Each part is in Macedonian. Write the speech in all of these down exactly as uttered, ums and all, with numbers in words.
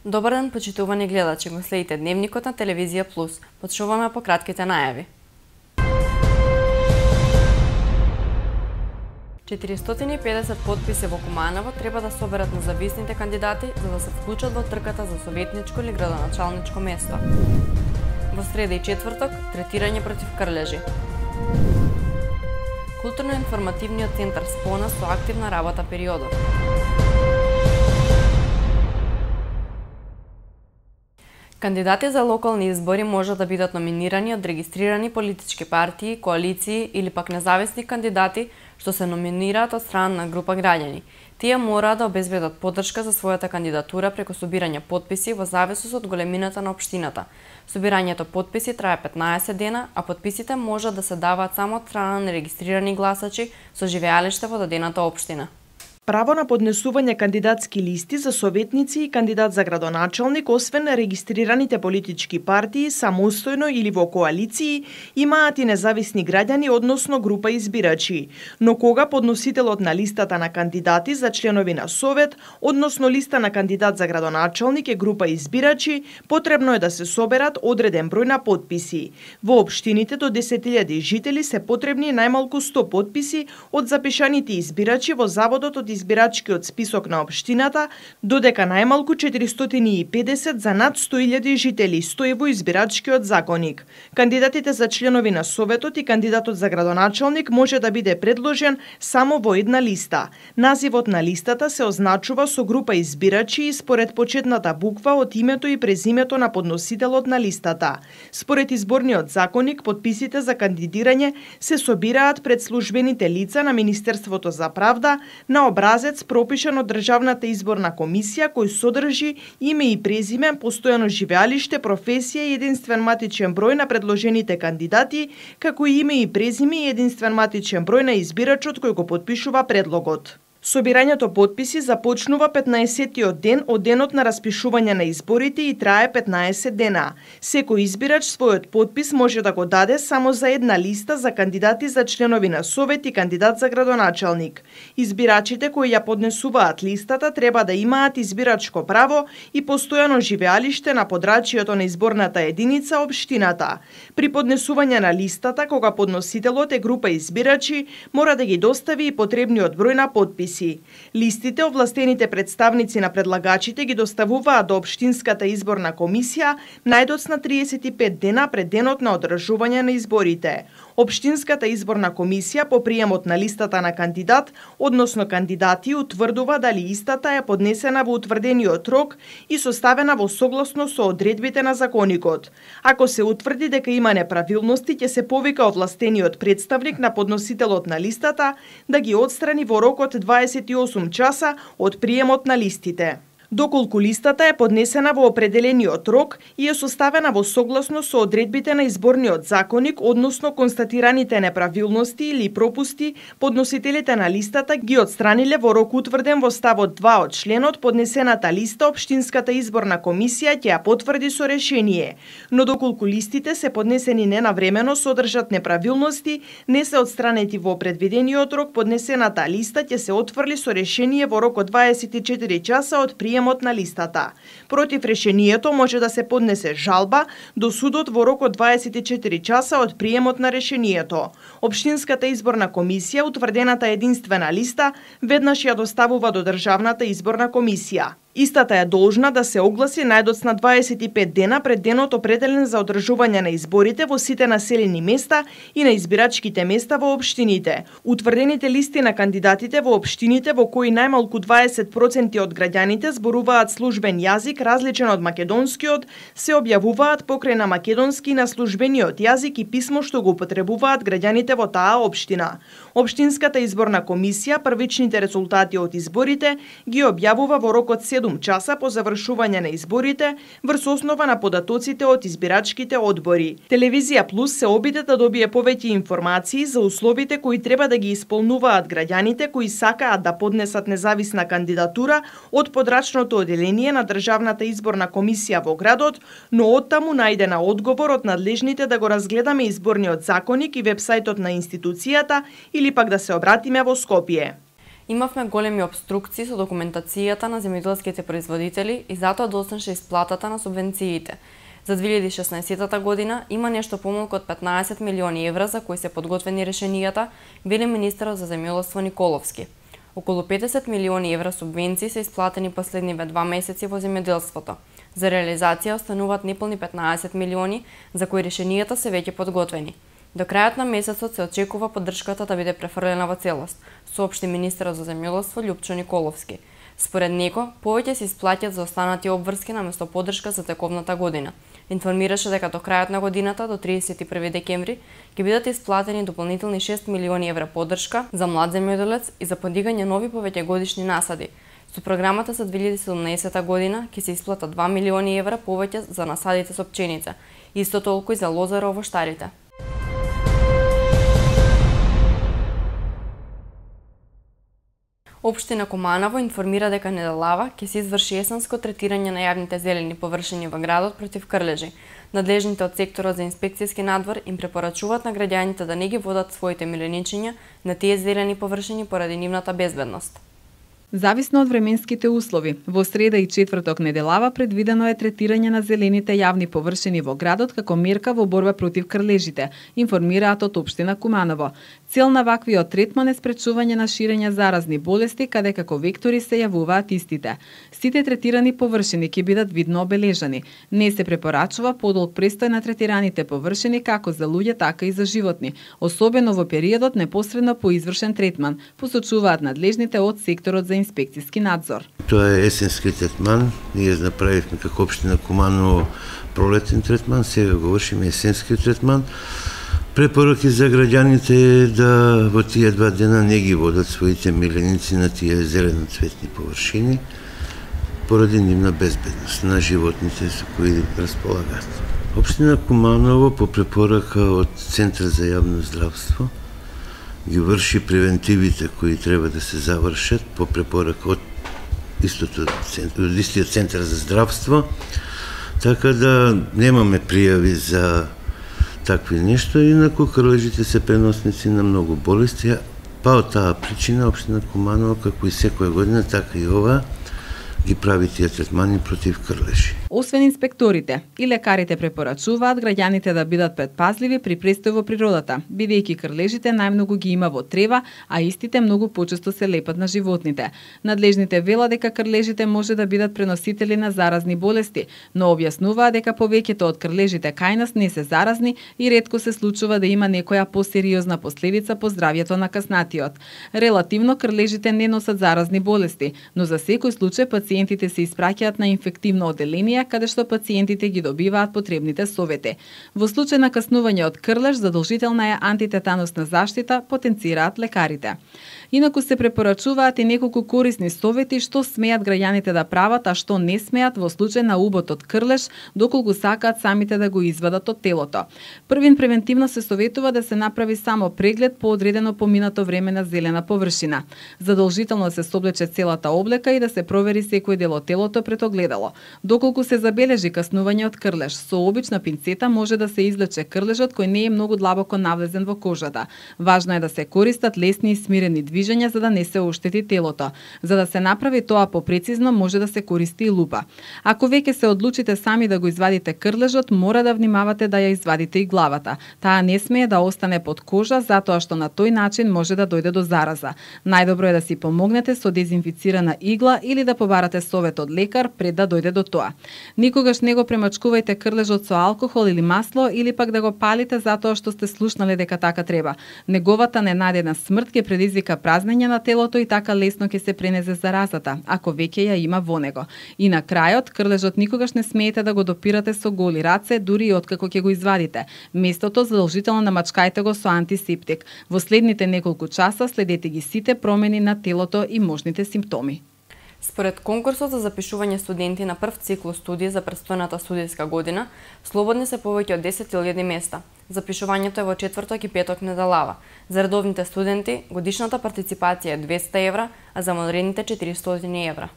Добар ден, почитувани гледачи, го следите Дневникот на Телевизија Плюс. Почнуваме по кратките најави. четиристотини и педесет потписи во Куманово треба да соберат независните кандидати за да се вклучат во трката за советничко или градоначалничко место. Во среда и четврток, третирање против крлежи. Културно-информативниот центар Спона со активна работа периодот. Кандидати за локални избори може да бидат номинирани од регистрирани политички партии, коалиции или пак независни кандидати што се номинираат од страна на група граѓани. Тие мора да обезбедат поддршка за својата кандидатура преку собирање потписи во зависност од големината на општината. Собирањето потписи трае петнаесет дена, а потписите може да се даваат само од страна на регистрирани гласачи со живеалиште во дадената општина. Право на поднесување кандидатски листи за советници и кандидат за градоначалник, освен на регистрираните политички партии, самостојно или во коалиции, имаат и независни граѓани, односно група избирачи. Но кога подносителот на листата на кандидати за членови на совет, односно листа на кандидат за градоначалник е група избирачи, потребно е да се соберат одреден број на потписи. Во општините до десет илјади жители се потребни најмалку сто потписи од запишаните избирачи во заводот од избирачкиот список на општината, додека најмалку четиристотини и педесет за над сто илјади жители стои во избирачкиот законник. Кандидатите за членови на советот и кандидатот за градоначалник може да биде предложен само во една листа. Називот на листата се означува со група избирачи и според почетната буква од името и презимето на подносителот на листата. Според изборниот законник, потписите за кандидирање се собираат пред службените лица на Министерството за правда на образец пропишан од Државната изборна комисија кој содржи име и презиме, постојано живеалиште, професија и единствен матичен број на предложените кандидати, како и име и презиме и единствен матичен број на избирачот кој го потпишува предлогот. Собирањето потписи започнува петнаесеттиот ден од денот на распишување на изборите и трае петнаесет дена. Секој избирач својот потпис може да го даде само за една листа за кандидати за членови на совет и кандидат за градоначалник. Избирачите кои ја поднесуваат листата треба да имаат избирачко право и постојано живеалиште на подрачјето на изборната единица општината. При поднесување на листата, кога подносителот е група избирачи, мора да ги достави и потребниот број на потписи. Листите овластените представници на предлагачите ги доставуваат до општинската изборна комисија најдоцна триесет и пет дена пред денот на одржување на изборите. Општинската изборна комисија по приемот на листата на кандидат, односно кандидати, утврдува дали истата е поднесена во утврдениот рок и составена во согласно со одредбите на законникот. Ако се утврди дека има неправилности, ќе се повика овластениот представник на подносителот на листата да ги отстрани во рок од дваесет и осум часа од приемот на листите. Доколку листата е поднесена во определениот рок и е составена во согласно со одредбите на изборниот законник, односно констатираните неправилности или пропусти, подносителите на листата ги отстраниле во рок утврден во ставот два од членот, поднесената листа општинската изборна комисија ќе ја потврди со решение. Но доколку листите се поднесени ненавремено, содржат неправилности, не се отстранети во предвидениот рок, поднесената листа ќе се отфрли со решение во рок од дваесет и четири часа од приемот на листата. Против решението може да се поднесе жалба до судот во рок од дваесет и четири часа од приемот на решението. Општинската изборна комисија утврдената единствена листа веднаш ја доставува до Државната изборна комисија. Истата е должна да се огласи најдоцна дваесет и пет дена пред денот определен за одржување на изборите во сите населени места и на избирачките места во општините. Утврдените листи на кандидатите во општините во кои најмалку дваесет проценти од граѓаните зборуваат службен јазик различен од македонскиот, се објавуваат покрај на македонски и на службениот јазик и писмо што го употребуваат граѓаните во таа општина. Општинската изборна комисија првичните резултати од изборите ги објавува во рок од седум часа по завршување на изборите врз основа на податоците од избирачките одбори. Телевизија Плюс се обиде да добие повеќе информации за условите кои треба да ги исполнуваат граѓаните кои сакаат да поднесат независна кандидатура од подрачното оделение на Државната изборна комисија во градот, но оттаму најдена одговор од надлежните да го разгледаме изборниот законник и вебсајтот на институцијата или пак да се обратиме во Скопје. Имавме големи обструкции со документацијата на земјоделските производители и затоа доснеше исплатата на субвенциите. За две илјади и шеснаесетта година има нешто помалку од петнаесет милиони евра за кои се подготвени решенијата, вели министерот за земјоделство Николовски. Околу петдесет милиони евра субвенции се исплатени последниве два месеци во земјоделството. За реализација остануваат неполни петнаесет милиони, за кои решенијата се веќе подготвени. До крајот на месецот се очекува поддршката да биде префрлена во целост, соопшти министерот за земјоделство Љупчо Николовски. Според него, повеќе се исплаќаат за останати обврски наместо поддршка за тековната година. Информираше дека до крајот на годината, до триесет и први декември, ќе бидат исплатени дополнителни шест милиони евра поддршка за млад земјоделец и за подигање нови повеќегодишни насади. Со програмата за две илјади и седумнаесетта година ќе се исплатат два милиони евра повеќе за насадите со пченица, исто толку и за лозара овоштарите. Општина Куманово информира дека неделава ќе се изврши есенско третирање на јавните зелени површини во градот против крлежи. Надлежните од секторот за инспекцијски надвор им препорачуваат на граѓаните да не ги водат своите миленичиња на тие зелени површини поради нивната безбедност. Зависно од временските услови, во среда и четврток неделава предвидено е третирање на зелените јавни површини во градот како мерка во борба против крлежите, информираат од општина Куманово. Цел на ваквиот третман е спречување на ширење заразни болести, каде како вектори се јавуваат истите. Сите третирани површини ќе бидат видно обележани. Не се препорачува подолг престој на третираните површини како за луѓе, така и за животни, особено во периодот непосредно по извршен третман, посочуваат надлежните од секторот за инспекцијски надзор. Тоа е есенски третман. Ние направивме како општина Куманово пролетен третман, сега го вршиме есенски третман. Препораки за граѓаните е да во тие два дена не ги водат своите миленици на тие зеленоцветни површини поради нивна безбедност на животните со кои располагаат. Општина Куманово по препорака од Центар за јавно здравство ги врши превентивите кои треба да се завршат по препорака од истото од истиот Центар за здравство, така да немаме пријави за такви нешто, инаку крлежите се преносници на многу болести, па од таа причина општина Куманово, како и секоја година, така и ова, ги прави тие третмани против крлежи. Освен инспекторите, и лекарите препорачуваат граѓаните да бидат предпазливи при престој во природата, бидејќи крлежите најмногу ги има во трева, а истите многу почесто се лепат на животните. Надлежните велат дека крлежите може да бидат преносители на заразни болести, но објаснуваат дека повеќето од крлежите кај нас не се заразни и ретко се случува да има некоја посериозна последица по здравјето на каснатиот. Релативно крлежите не носат заразни болести, но за секој случај пациентите се испраќаат на инфективно оделение каде што пациентите ги добиваат потребните совети. Во случај на каснување од крлеж, задолжителна е антитетанусна заштита, потенцираат лекарите. Инаку се препорачуваат и неколку корисни совети што смеат граѓаните да прават, а што не смеат во случај на убот од крлеж, доколку сакаат самите да го извадат од телото. Првин превентивно се советува да се направи само преглед по одредено поминато време на зелена површина. Задолжително се соблече целата облека и да се провери секој дел од телото пред огледало. Доколку се забележи каснување од крлеж, со обична пинцета може да се извлече крлежот кој не е многу длабоко навлезен во кожата. Важно е да се користат лесни и смирени движења за да не се оштети телото. За да се направи тоа попрецизно, може да се користи и лупа. Ако веќе се одлучите сами да го извадите крлежот, мора да внимавате да ја извадите и главата. Таа не смее да остане под кожа, затоа што на тој начин може да дојде до зараза. Најдобро е да си помогнете со дезинфицирана игла или да побарате совет од лекар пред да дојде до тоа. Никогаш не го премачкувајте крлежот со алкохол или масло или пак да го палите затоа што сте слушнале дека така треба. Неговата ненадена смрт ќе предизвика празнење на телото и така лесно ќе се пренезе заразата, ако веќе ја има во него. И на крајот, крлежот никогаш не смеете да го допирате со голи раце, дури и откако ќе го извадите. Местото задолжително намачкајте го со антисептик. Во следните неколку часа следете ги сите промени на телото и можните симптоми. Според конкурсот за запишување студенти на прв циклус студија за престојната студијска година, слободни се повеќе од десет илјади места. Запишувањето е во четврток и петок неделава. За редовните студенти годишната партиципација е двесте евра, а за модрените четиристотини евра.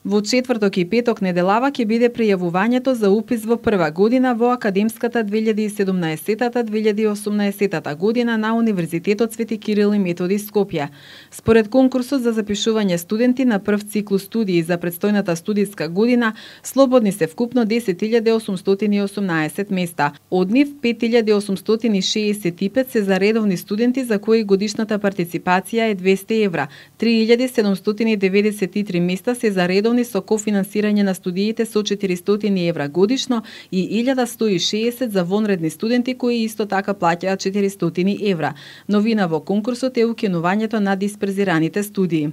Во четврток и петок неделава ќе биде пријавувањето за упис во прва година во академската две илјади и седумнаесета две илјади и осумнаесета година на Универзитетот Свети Кирил и Методи Скопје. Според конкурсот за запишување студенти на прв циклус студии за предстојната студиска година, слободни се вкупно десет илјади осумстотини и осумнаесет места. Од нив пет илјади осумстотини шеесет и пет се за редовни студенти за кои годишната партиципација е двесте евра, три илјади седумстотини деветдесет и три места се за редовни со кофинансирање на студиите со четиристотини евра годишно и илјада сто и шеесет за вонредни студенти кои исто така плаќаат четиристотини евра. Новина во конкурсот е укинувањето на дисперзираните студии.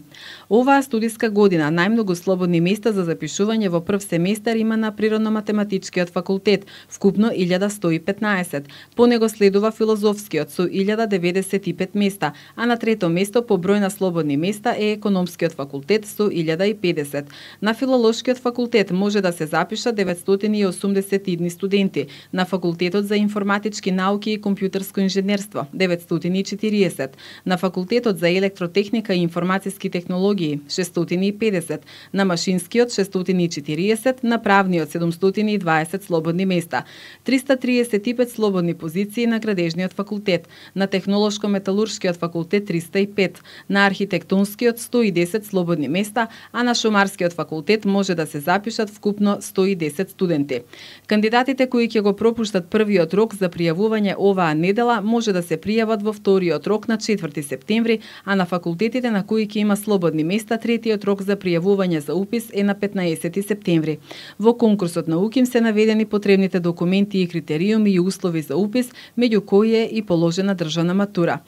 Оваа студиска година најмногу слободни места за запишување во прв семестар има на Природно-математичкиот факултет, вкупно илјада сто и петнаесет. По него следува Филозофскиот со илјада деветдесет и пет места, а на трето место по број на слободни места е Економскиот факултет со илјада и педесет. На Филолошкиот факултет може да се запишат деветстотини и осумдесет и едни студенти, на Факултетот за информатички науки и компјутерско инженерство деветстотини и четириесет, на Факултетот за електротехника и информациски технологии шестстотини и педесет, на Машинскиот шестстотини и четириесет, на Правниот седумстотини и дваесет слободни места, триста триесет и пет слободни позиции на Градежниот факултет, на Технолошко-металуршкиот факултет триста и пет, на Архитектонскиот сто и десет слободни места, а на Шумарскиот факултет може да се запишат вкупно сто и десет студенти. Кандидатите кои ќе го пропуштат првиот рок за пријавување оваа недела може да се пријават во вториот рок на четврти септември, а на факултетите на кои ќе има слободни места третиот рок за пријавување за упис е на петнаесети септември. Во конкурсот на УКИМ се наведени потребните документи и критериуми и услови за упис, меѓу кои е и положена државна матура.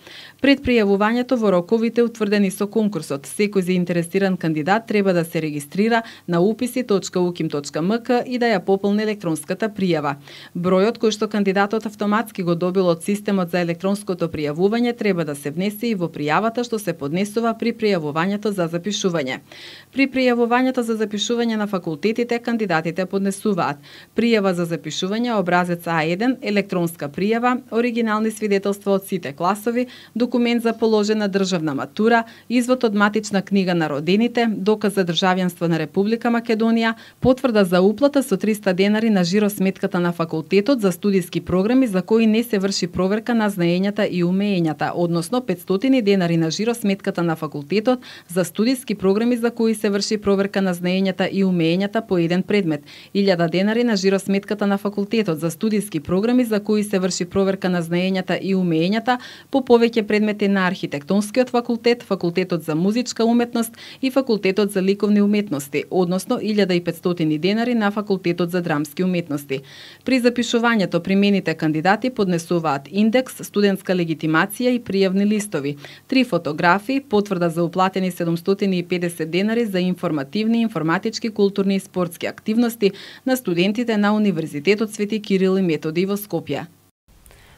Пред пријавувањето во роковите утврдени со конкурсот, секој заинтересиран кандидат треба да се регистрира на уписи точка уким точка ем ка и да ја пополни електронската пријава. Бројот кој што кандидатот автоматски го добил од системот за електронското пријавување треба да се внесе и во пријавата што се поднесува при пријавувањето за запишување. При пријавувањето за запишување на факултетите кандидатите поднесуваат пријава за запишување образец А еден, електронска пријава, оригинални свидетелства од сите класови, документ за положена државна матура, извод од матична книга на родените, доказ за државјанство на Република Македонија, потврда за уплата со триста денари на жиросметката на факултетот за студиски програми за кои не се врши проверка на знаењата и умеењата, односно петстотини денари на жиросметката на факултетот за студиски програми за кои се врши проверка на знаењата и умеењата по еден предмет, илјада денари на жиросметката на факултетот за студиски програми за кои се врши проверка на знаењата и умеењата по повеќе предмети на Архитектонскиот факултет, Факултетот за музичка уметност и Факултетот за ликовни уметности, односно илјада и петстотини денари на Факултетот за драмски уметности. При запишувањето примените кандидати поднесуваат индекс, студентска легитимација и пријавни листови, три фотографии, потврда за уплатени седумстотини и педесет денари за информативни, информатички, културни и спортски активности на студентите на Универзитетот Свети Кирил и Методи во Скопје.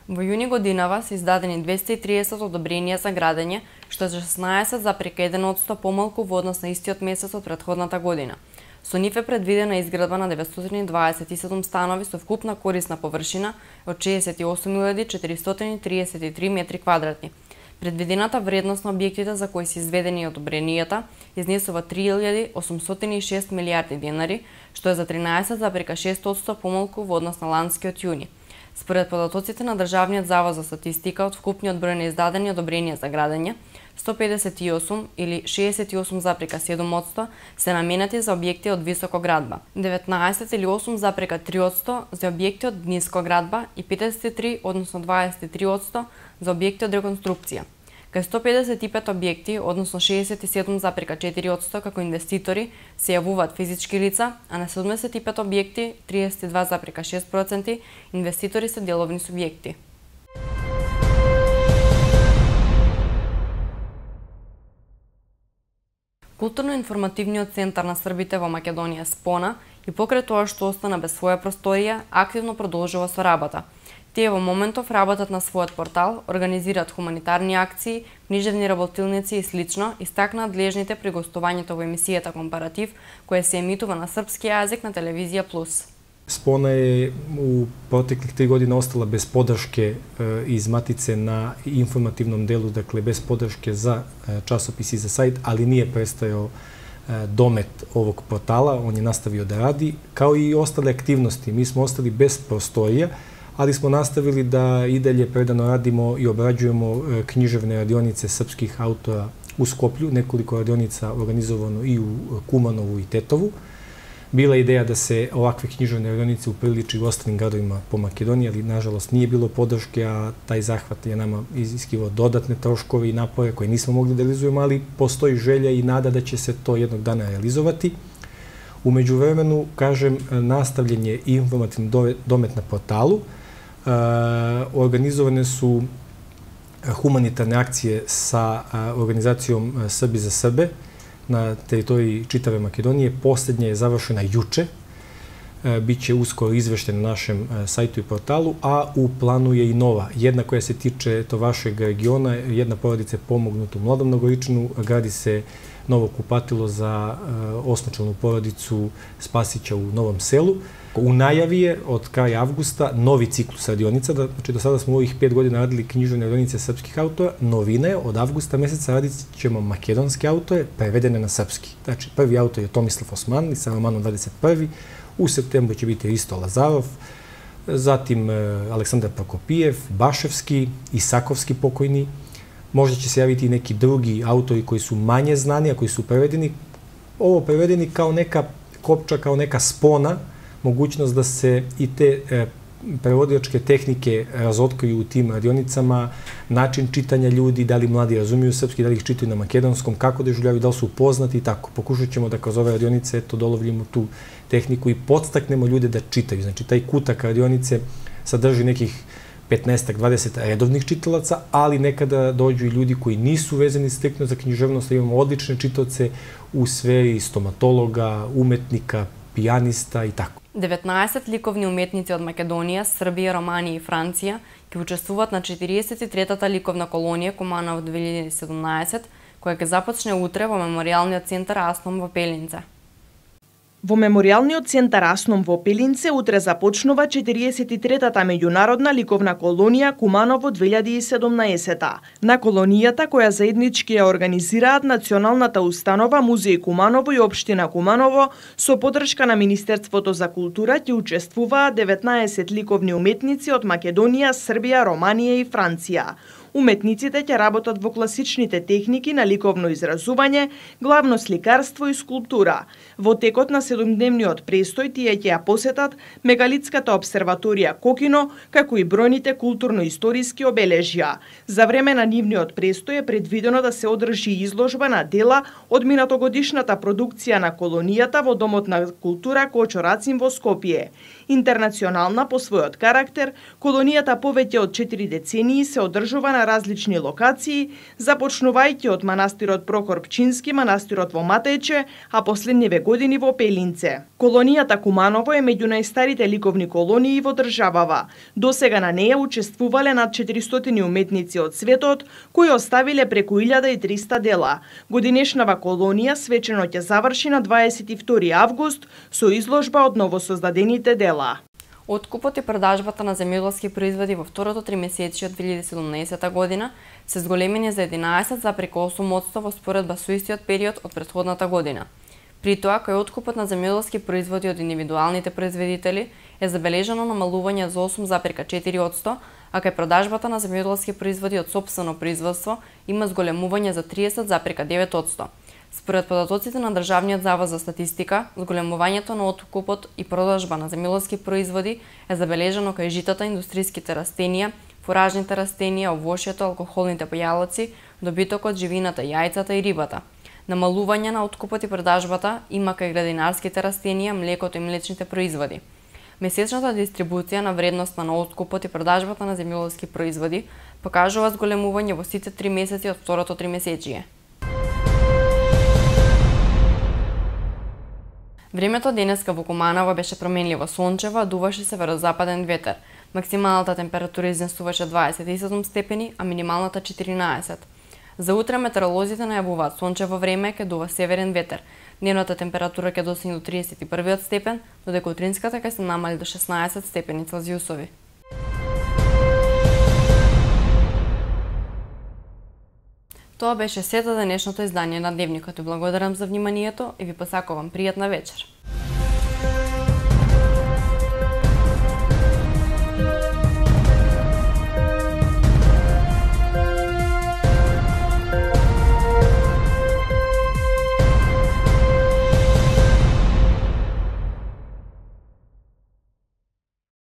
Во јуни годинава се издадени двесте и триесет одобренија за градење, што е шеснаесет запирка еден одсто помалку во однос на истиот месец од претходната година. Со нив е предвидена изградба на деветстотини дваесет и седум станови со вкупна корисна површина од шеесет и осум илјади четиристотини триесет и три метри квадратни. Предвидената вредност на објектите за кои се изведени одобренијата изнесува три илјади осумстотини и шест милијарди денари, што е за тринаесет запирка шест одсто помалку во однос на ланскиот јуни. Според податоците на Државниот завод за статистика, од вкупниот број на издадени одобренија за градење, сто педесет и осум или шеесет и осум запирка седум одсто се наменети за објекти од високоградба, деветнаесет или осум запирка три одсто за објекти од нискоградба и петдесет и три, односно дваесет и три одсто за објекти од реконструкција. Кај сто педесет и пет објекти, односно шеесет и седум запирка четири одсто како инвеститори, се јавуваат физички лица, а на седумдесет и пет објекти, триесет и два запирка шест проценти, инвеститори се деловни субјекти. Културно-информативниот центар на србите во Македонија Спона и покрај тоа што остана без своја просторија, активно продолжува со работа. Тие во моментов работат на својот портал, организираат хуманитарни акции, книжевни работилници и слично, истакнаат длежните при гостувањето во емисијата Компаратив, која се емитува на српски јазик на Телевизија Плюс. Спона е у протеклих три години остала без подршке из матице на информативном делу, дакле без подршке за часописи и за сајт, али ние престајал домет овог портала, он je nastavio da radi, kao i ostale aktivnosti. Mi smo ostali bez prostorija, ali smo nastavili da i dalje predano radimo i obrađujemo književne radionice srpskih autora u Skoplju, nekoliko radionica organizovano i u Kumanovu i Tetovu. Bila je ideja da se ovakve književne radionice upriliči u ostalim gradovima po Makedoniji, ali nažalost nije bilo podrške, a taj zahvat je nama iziskivao dodatne troškove i napore koje nismo mogli da realizujemo, ali postoji želja i nada da će se to jednog dana realizovati. U međuvremenu, kažem, nastavljen je informativni domet na portalu. Organizovane su humanitarne akcije sa organizacijom Srbi za Srbe na teritoriji čitave Makedonije. Posljednja je završena juče. Biće uskoro izveštena na našem sajtu i portalu, a u planu je i nova. Jedna koja se tiče to vašeg regiona, jedna porodica je pomognuta u Mladom Nogoričanu, gradi se novo kupatilo za osmočlanu porodicu Spasića u Novom Selu. U najavi je od kraja avgusta novi ciklus radionica, znači do sada smo u ovih pet godina radili književne radionice srpskih autora, novina je od avgusta meseca radit ćemo makedonske autore prevedene na srpski. Znači prvi autor je Tomislav Osmanli sa romanom dvadeset prvi, u septembru će biti Risto Lazarov, zatim Aleksandar Prokopijev, Baševski, Isakovski pokojni, možda će se javiti i neki drugi autori koji su manje znani, a koji su prevedeni. Ovo prevedeni kao neka kopča, kao neka spona, mogućnost da se i te e, prevodilačke tehnike razotkriju u tim radionicama, način čitanja ljudi, da li mladi razumiju srpski, da li ih čitaju na makedonskom, kako doživljavaju, da li su upoznati i tako. Pokušat ćemo da kroz ove radionice eto, dolovljimo tu tehniku i podstaknemo ljude da čitaju. Znači, taj kutak radionice sadrži nekih petnaest do dvadeset redovnih čitalaca, ali nekada dođu i ljudi koji nisu vezani striktno za književnost, da imamo odlične čitaoce u sferi stomatologa, umetnika, pijanista i tako. деветнаесет ликовни уметници од Македонија, Србија, Романија и Франција ќе учествуваат на четириесет и третата ликовна колонија Куманово две илјади и седумнаесет, која ќе започне утре во Меморијалниот центар Асном во Пелинце. Во Меморијалниот центар Асном во Пелинце утре започнува четириесет и третата меѓународна ликовна колонија Куманово две илјади и седумнаесет. На колонијата, која заеднички ја организираат Националната установа Музеј Куманово и Општина Куманово, со поддршка на Министерството за култура ќе учествуваат деветнаесет ликовни уметници од Македонија, Србија, Романија и Франција. Уметниците ќе работат во класичните техники на ликовно изразување, главно сликарство и скулптура. Во текот на седумдневниот престој тие ќе ја посетат мегалитската обсерваторија Кокино, како и бројните културно-историски обележја. За време на нивниот престој е предвидено да се одржи изложба на дела од минатогодишната продукција на колонијата во Домот на култура Кочо Рацин во Скопје. Интернационална по својот карактер, колонијата повеќе од четири децении се одржува на различни локации, започнувајќи од манастирот Прокор Пчински, манастирот во Матејче, а последниве години во Пелинце. Колонијата Куманово е меѓу најстарите ликовни колонии во државава. Досега на неја учествувале над четиристотини уметници од светот, кои оставиле преку илјада и триста дела. Годинешнава колонија свечено ќе заврши на дваесет и втори август со изложба од новосоздадените дела. Откупот и продажбата на земјоделски производи во второто тримесечие од две илјади и седумнаесета година се зголемени за единаесет зарез осум одсто во споредба со истиот период од претходната година. При тоа, кој откупот на земјоделски производи од индивидуалните производители е забележано намалување за осум зарез четири одсто, а кај продажбата на земјоделски производи од сопствено производство има зголемување за триесет зарез девет одсто. Според податоците на Државниот завод за статистика, зголемувањето на откупот и продажба на земјоделски производи е забележано кај житата, индустријските растенија, фуражните растенија, овошјето, алкохолните појалоци, добитокот, живината, јајцата и рибата. Намалување на откупот и продажбата има кај градинарските растенија, млекото и млечните производи. Месечната дистрибуција на вредноста на откупот и продажбата на земјоделски производи покажува зголемување во сите три месеци од второто тримесечие. Времето денеска во Куманово беше променливо сончево, дуваше северозападен ветер. Максималната температура изнесуваше дваесет и седум степени, а минималната четиринаесет. За утре метеоролозите најавуваат сончево време, ќе дува северен ветер. Дневната температура ќе достигне до триесет и првиот степен, додека утринската ќе се намали до шеснаесет степени Целзиусови. Тоа беше сето денешното издание на Дневникот. Ви благодарам за вниманието и ви посакувам пријатна вечер.